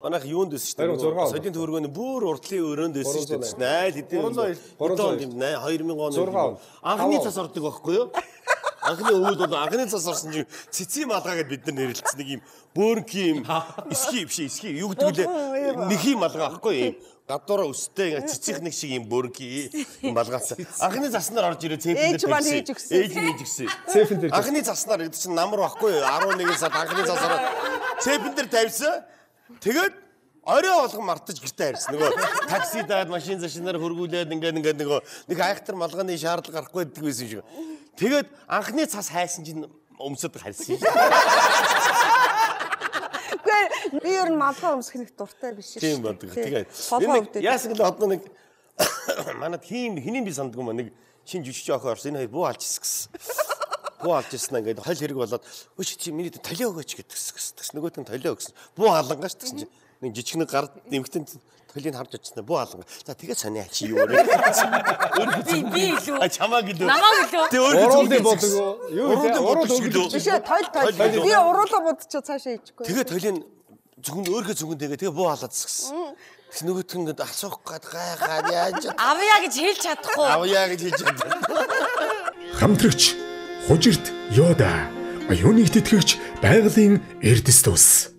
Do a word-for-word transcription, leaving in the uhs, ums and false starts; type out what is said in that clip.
Манайх юунд дэс шүү дээ. Содын төвөргөний бүр уртлын өрөөнд дэсэн шүү дээ. Найл хэдийн хэдийн хоёр мянган оны анхны цас ордог байхгүй юу? Анхны өвөл бол анхны цас орсон чинь цэцгийн малгай гэдээ бид нар нэрлэлсэн нэг юм бөөрнгийн юм эсхий биш эсхий юу гэдэг лээ нэхий малгай байхгүй юм. Гадуураа өстэй ингээ цэцгийнх нэг шиг юм бөөрнгийн юм малгайсан. Анхны заснаар орж ирээ цэпэн дээр тавьсан. Ээж нь хийж өгсөн. Цэпэн дээр. Анхны заснаар гэдэг чинь намар байхгүй юу? арван нэгэн сард анхны засаар цэпэн дээр тавьсан. Тэгээд орой болгон мартаж гэртээ харьсан. Нөгөө такси даад машин зашинаар хөргүүлээд ингээ ингээ нөгөө нэг айхтар малгайны шаардлага гарахгүй байдаг байсан шиг. Тэгээд анхны цас хайсан чинь өмсөд харьсан. Гэхдээ би ер нь малгай өмсөх нэг дуртай биш шүү. Тийм байдаг. Тэгээд яасан гэвэл одоо нэг манад хин хинийн би сандгүй маа нэг шин жүжигч охин орсон. Энэ хоёр буу алж ирсэн гэсэн. Буу алж ирсэн ингээд хол хэрэг болоод өч чи миний толио өгөөч гэдгсэн. Тэгс нөгөөт нь толио өгсөн. Буу халангаш гэсэн чинь нэг жижиг нэг гар нэмэгтэн толийг харж очсон. Буу халанга. За тэгээд сониа чи юу вэ? Би би илүү. А чамаг илүү. Намаг илүү. Тэг өөрөө уруулын бодог юу вэ? Уруул өгдөг. Биш ээ, тойл тойл. Би уруулаа бодчихоо цаашаа хийчихгүй. Тэгээд толийг зөвхөн өөрхөө зөвхөн тэгээд тэгээ буу халаад згсэн. Тэгс нөгөөт нь ингээд асуух гээд гайхаад яаж авъя гэж хэлж чадахгүй. Авъя гэж хэлж чаддаг. Хамтрагч Хужирт Йода, оюуныг тэтгэгч байгалийн эрдэс тус.